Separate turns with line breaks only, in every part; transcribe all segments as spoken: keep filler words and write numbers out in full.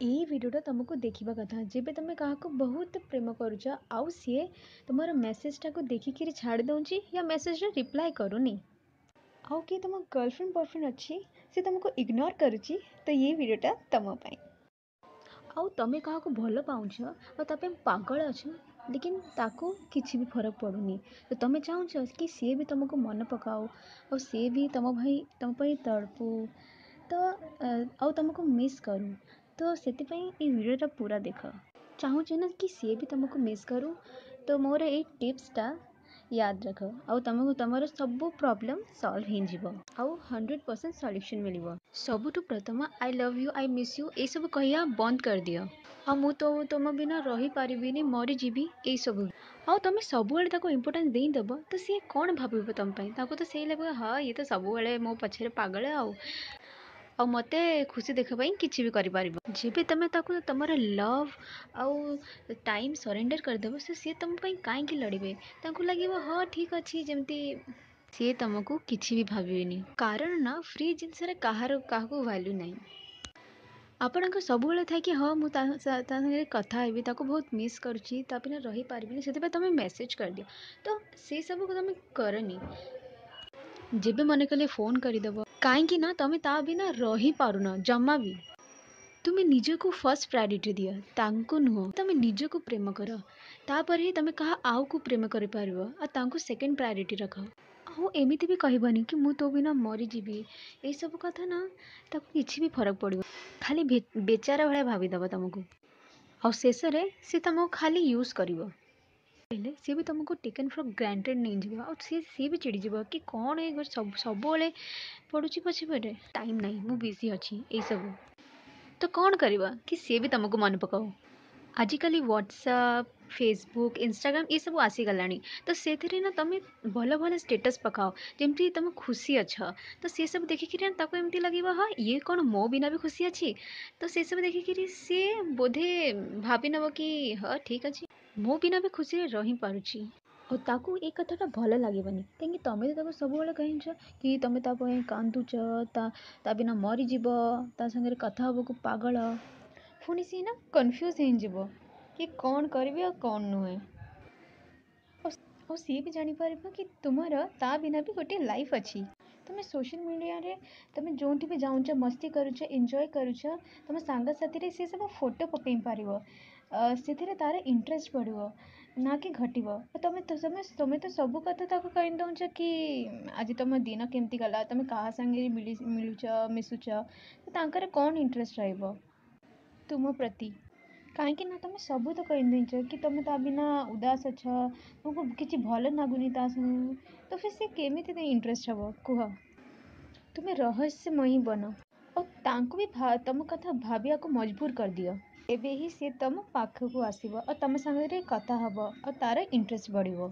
ଏଇ ଭିଡ଼ିଓଟା ତୁମକୁ ଦେଖିବା କଥା ଯେବେ ତୁମେ କାହାକୁ ବହୁତ ପ୍ରେମ କରୁଛ ଆଉ ସିଏ ତୁମର ମେସେଜଟାକୁ ଦେଖିକିରି ଛାଡ଼ି ଦେଉଛି ୟା ମେସେଜର ରିପ୍ଲାଏ କରୁନି ଆଉ କିଏ ତୁମ ଗର୍ଲଫ୍ରେଣ୍ଡ ବୟଫ୍ରେଣ୍ଡ ଅଛି ସେ ତୁମକୁ ଇଗ୍ନୋର କରୁଛି ତ ଏଇ ଭିଡ଼ିଓଟା ତୁମ ପାଇଁ ଆଉ ତୁମେ କାହାକୁ ଭଲ ପାଉଛ ଆଉ ତା ପାଇଁ ପାଗଳ ଅଛ ଲେକିନ୍ ତାକୁ କିଛି ବି ଫରକ ପଡ଼ୁନି ତ ତୁମେ ଚାହୁଁଛ କି ସିଏ ବି ତୁମକୁ ମନେ ପକାଉ ଆଉ ସିଏ ବି ତୁମ ଭାଇ ତୁମ ପାଇଁ ତଡ଼ପୁ ତ ଆଉ ତୁମକୁ ମିସ୍ କରୁ ତ ସେଥିପାଇଁ ଏଇ ଭିଡ଼ିଓଟା ପୁରା ଦେଖ ଚାହୁଁଛ ନା କି ସିଏ ବି ତୁମକୁ ମିସ୍ କରୁ ତ ମୋର ଏଇ ଟିପ୍ସଟା ୟାଦ ରଖ ଆଉ ତୁମକୁ ତୁମର ସବୁ ପ୍ରୋବ୍ଲେମ୍ ସଲ୍ଭ ହେଇଯିବ ଆଉ ହଣ୍ଡ୍ରେଡ଼ ପରସେଣ୍ଟ ସଲ୍ୟୁସନ୍ ମିଳିବ ସବୁଠୁ ପ୍ରଥମ I love you I miss you ଏସବୁ କହିବା ବନ୍ଦ କରିଦିଅ ଆଉ ମୁଁ ତ ତୁମ ବିନା ରହିପାରିବିନି ମରିଯିବି ଏଇସବୁ ଆଉ ତୁମେ ସବୁବେଳେ ତାକୁ ଇମ୍ପୋର୍ଟାନ୍ସ ଦେଇଦେବ ତ ସିଏ କ'ଣ ଭାବିବ ତୁମ ପାଇଁ ତାକୁ ତ ସେଇ ଲାଗିବ ହଁ ଇଏ ତ ସବୁବେଳେ ମୋ ପଛରେ ପାଗଳ ଆଉ ଆଉ ମୋତେ ଖୁସି ଦେଖିବା ପାଇଁ କିଛି ବି କରିପାରିବ ଯେବେ ତୁମେ ତାକୁ ତୁମର ଲଭ୍ ଆଉ ଟାଇମ୍ ସରେଣ୍ଡର କରିଦେବ ସେ ସିଏ ତୁମ ପାଇଁ କାହିଁକି ଲଢ଼ିବେ ତାଙ୍କୁ ଲାଗିବ ହଁ ଠିକ୍ ଅଛି ଯେମିତି ସିଏ ତୁମକୁ କିଛି ବି ଭାବିବେନି କାରଣ ନା ଫ୍ରି ଜିନିଷରେ କାହାର କାହାକୁ ଭ୍ୟାଲ୍ୟୁ ନାହିଁ ଆପଣଙ୍କ ସବୁବେଳେ ଥାଏ କି ହଁ ମୁଁ ତା ତା ସାଙ୍ଗରେ କଥା ହେବି ତାକୁ ବହୁତ ମିସ୍ କରୁଛି ତା ବିନା ରହିପାରିବିନି ସେଥିପାଇଁ ତୁମେ ମେସେଜ୍ କରିଦିଅ ତ ସେସବୁକୁ ତୁମେ କରନି ଯେବେ ମନେ କଲେ ଫୋନ୍ କରିଦେବ କାହିଁକି ନା ତୁମେ ତା ବିନା ରହିପାରୁନ ଜମା ବି ତୁମେ ନିଜକୁ ଫାର୍ଷ୍ଟ ପ୍ରାୟୋରିଟି ଦିଅ ତାଙ୍କୁ ନୁହଁ ତୁମେ ନିଜକୁ ପ୍ରେମ କର ତାପରେ ହିଁ ତୁମେ କାହା ଆଉକୁ ପ୍ରେମ କରିପାରିବ ଆଉ ତାଙ୍କୁ ସେକେଣ୍ଡ ପ୍ରାୟୋରିଟି ରଖ ଆଉ ଏମିତି ବି କହିବନି କି ମୁଁ ତୋ ବିନା ମରିଯିବି ଏଇସବୁ କଥା ନା ତାକୁ କିଛି ବି ଫରକ ପଡ଼ିବ ଖାଲି ବେଚାରା ଭଳିଆ ଭାବିଦେବ ତୁମକୁ ଆଉ ଶେଷରେ ସେ ତୁମକୁ ଖାଲି ୟୁଜ୍ କରିବ ହେଲେ ସିଏ ବି ତୁମକୁ ଟେକେନ୍ ଫର୍ ଗ୍ରାଣ୍ଟେଡ଼୍ ନେଇଯିବ ଆଉ ସିଏ ସିଏ ବି ଚିଡ଼ିଯିବ କି କ'ଣ ଏ ସବୁ ସବୁବେଳେ ପଡ଼ୁଛି ପଛେ ପରେ ଟାଇମ୍ ନାହିଁ ମୁଁ ବିଜି ଅଛି ଏଇସବୁ ତ କ'ଣ କରିବ କି ସିଏ ବି ତୁମକୁ ମନେ ପକାଉ ଆଜିକାଲି ହ୍ୱାଟ୍ସଆପ୍ ଫେସବୁକ୍ ଇନଷ୍ଟାଗ୍ରାମ୍ ଏସବୁ ଆସିଗଲାଣି ତ ସେଥିରେ ନା ତୁମେ ଭଲ ଭଲ ଷ୍ଟେଟସ୍ ପକାଅ ଯେମିତି ତୁମେ ଖୁସି ଅଛ ତ ସେସବୁ ଦେଖିକିରି ନା ତାକୁ ଏମିତି ଲାଗିବ ହଁ ଇଏ କ'ଣ ମୋ ବିନା ବି ଖୁସି ଅଛି ତ ସେସବୁ ଦେଖିକିରି ସିଏ ବୋଧେ ଭାବିନେବ କି ହଁ ଠିକ୍ ଅଛି ମୋ ବିନା ବି ଖୁସିରେ ରହିପାରୁଛି ଆଉ ତାକୁ ଏ କଥାଟା ଭଲ ଲାଗିବନି କାହିଁକି ତୁମେ ତ ତାକୁ ସବୁବେଳେ କହିଛ କି ତୁମେ ତା ପାଇଁ କାନ୍ଦୁଛ ତା ତା ବିନା ମରିଯିବ ତା ସାଙ୍ଗରେ କଥା ହେବାକୁ ପାଗଳ ପୁଣି ସିଏ ନା କନଫ୍ୟୁଜ୍ ହେଇଯିବ କି କ'ଣ କରିବି ଆଉ କ'ଣ ନୁହେଁ ଆଉ ଆଉ ସିଏ ବି ଜାଣିପାରିବ କି ତୁମର ତା ବିନା ବି ଗୋଟିଏ ଲାଇଫ୍ ଅଛି ତୁମେ ସୋସିଆଲ୍ ମିଡ଼ିଆରେ ତୁମେ ଯେଉଁଠି ବି ଯାଉଛ ମସ୍ତି କରୁଛ ଏନ୍ଜୟ କରୁଛ ତୁମ ସାଙ୍ଗସାଥିରେ ସିଏ ସବୁ ଫଟୋ ପକାଇ ପାରିବ ସେଥିରେ ତା'ର ଇଣ୍ଟରେଷ୍ଟ ବଢ଼ିବ ନା କି ଘଟିବ ତମେ ତମେ ତମେ ତ ସବୁ କଥା ତାକୁ କହି ଦେଉଛ କି ଆଜି ତୁମ ଦିନ କେମିତି ଗଲା ତୁମେ କାହା ସାଙ୍ଗରେ ମିଳି ମିଳୁଛ ମିଶୁଛ ତ ତାଙ୍କର କ'ଣ ଇଣ୍ଟରେଷ୍ଟ ରହିବ ତୁମ ପ୍ରତି କାହିଁକି ନା ତୁମେ ସବୁ ତ କହିଦେଇଛ କି ତୁମେ ତା ବିନା ଉଦାସ ଅଛ ତୁମକୁ କିଛି ଭଲ ଲାଗୁନି ତା ସାଙ୍ଗେ ତ ଫିର୍ ସେ କେମିତି ଇଣ୍ଟରେଷ୍ଟ ହେବ କୁହ ତୁମେ ରହସ୍ୟମୟୀ ବନ ଆଉ ତାଙ୍କୁ ବି ତୁମ କଥା ଭାବିବାକୁ ମଜବୁର କରିଦିଅ ଏବେ ହିଁ ସିଏ ତୁମ ପାଖକୁ ଆସିବ ଆଉ ତୁମ ସାଙ୍ଗରେ କଥା ହେବ ଆଉ ତା'ର ଇଣ୍ଟରେଷ୍ଟ ବଢ଼ିବ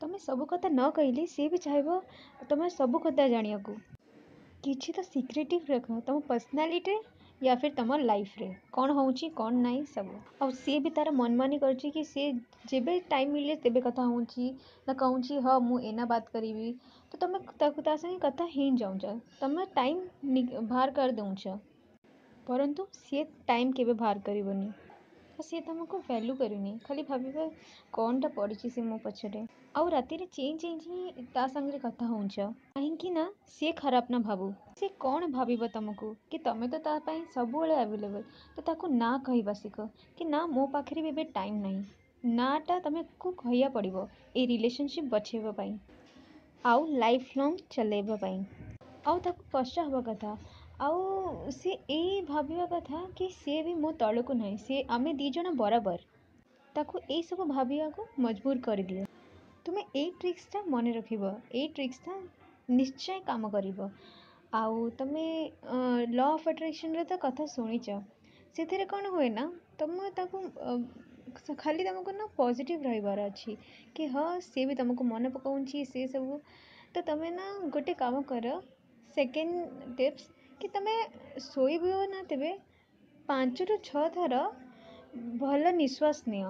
ତୁମେ ସବୁ କଥା ନ କହିଲେ ସିଏ ବି ଚାହିଁବ ତୁମେ ସବୁ କଥା ଜାଣିବାକୁ କିଛି ତ ସିକ୍ରେଟିଭ୍ ରଖ ତୁମ ପର୍ସନାଲିଟିରେ ୟା ଫିର୍ ତୁମ ଲାଇଫ୍ରେ କ'ଣ ହେଉଛି କ'ଣ ନାହିଁ ସବୁ ଆଉ ସିଏ ବି ତା'ର ମନମାନି କରୁଛି କି ସିଏ ଯେବେ ଟାଇମ୍ ମିଳିଲେ ତେବେ କଥା ହେଉଛି ନା କହୁଛି ହଁ ମୁଁ ଏଇନା ବାତ କରିବି ତ ତୁମେ ତାକୁ ତା ସାଙ୍ଗେ କଥା ହେଇଯାଉଛ ତୁମେ ଟାଇମ୍ ବାହାର କରିଦେଉଛ ପରନ୍ତୁ ସିଏ ଟାଇମ୍ କେବେ ବାହାର କରିବନି ଆଉ ସିଏ ତୁମକୁ ଭ୍ୟାଲ୍ୟୁ କରୁନି ଖାଲି ଭାବିବ କ'ଣଟା ପଡ଼ିଛି ସେ ମୋ ପଛରେ ଆଉ ରାତିରେ ଚେଇଁ ଚେଇଁ ଚେଇଁ ତା ସାଙ୍ଗରେ କଥା ହେଉଛ କାହିଁକି ନା ସିଏ ଖରାପ ନା ଭାବୁ ସିଏ କ'ଣ ଭାବିବ ତୁମକୁ କି ତୁମେ ତ ତା ପାଇଁ ସବୁବେଳେ ଆଭେଲେବଲ୍ ତ ତାକୁ ନା କହିବା ଶିଖ କି ନା ମୋ ପାଖରେ ବି ଏବେ ଟାଇମ୍ ନାହିଁ ନାଟା ତୁମକୁ କହିବାକୁ ପଡ଼ିବ ଏଇ ରିଲେସନସିପ୍ ବଞ୍ଚେଇବା ପାଇଁ ଆଉ ଲାଇଫ୍ ଲଙ୍ଗ୍ ଚଲେଇବା ପାଇଁ ଆଉ ତାକୁ କଷ୍ଟ ହେବା କଥା ଆଉ ସିଏ ଏଇ ଭାବିବା କଥା କି ସିଏ ବି ମୋ ତଳକୁ ନାହିଁ ସିଏ ଆମେ ଦୁଇ ଜଣ ବରାବର ତାକୁ ଏଇସବୁ ଭାବିବାକୁ ମଜବୁର କରିଦିଅ ତୁମେ ଏଇ ଟ୍ରିକ୍ସଟା ମନେ ରଖିବ ଏଇ ଟ୍ରିକ୍ସଟା ନିଶ୍ଚୟ କାମ କରିବ ଆଉ ତୁମେ ଲ ଅଫ୍ ଆଟ୍ରାକ୍ସନ୍ର ତ କଥା ଶୁଣିଛ ସେଥିରେ କ'ଣ ହୁଏ ନା ତୁମେ ତାକୁ ଖାଲି ତୁମକୁ ନା ପଜିଟିଭ୍ ରହିବାର ଅଛି କି ହଁ ସିଏ ବି ତୁମକୁ ମନେ ପକାଉଛି ସେ ସବୁ ତ ତୁମେ ନା ଗୋଟେ କାମ କର ସେକେଣ୍ଡ ଟିପ୍ସ କି ତୁମେ ଶୋଇବ ନା ତେବେ ପାଞ୍ଚରୁ ଛଅ ଥର ଭଲ ନିଶ୍ୱାସ ନିଅ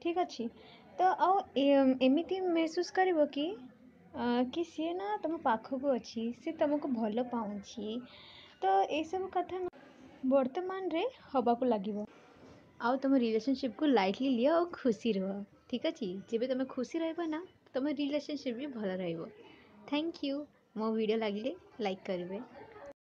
ଠିକ୍ ଅଛି ତ ଆଉ ଏମିତି ମେହସୁସ୍ କରିବ କି କି ସିଏ ନା ତୁମ ପାଖକୁ ଅଛି ସିଏ ତୁମକୁ ଭଲ ପାଉଛି ତ ଏସବୁ କଥା ବର୍ତ୍ତମାନରେ ହେବାକୁ ଲାଗିବ। ଆଉ ତୁମ ରିଲେସନସିପ୍କୁ ଲାଇଟଲି ନିଅ ଆଉ ଖୁସି ରୁହ, ଠିକ୍ ଅଛି? ଯେବେ ତୁମେ ଖୁସି ରହିବ ନା, ତୁମ ରିଲେସନସିପ୍ ବି ଭଲ ରହିବ। Thank you. ମୋ ଭିଡ଼ିଓ ଲାଗିଲେ ଲାଇକ୍ କରିବେ।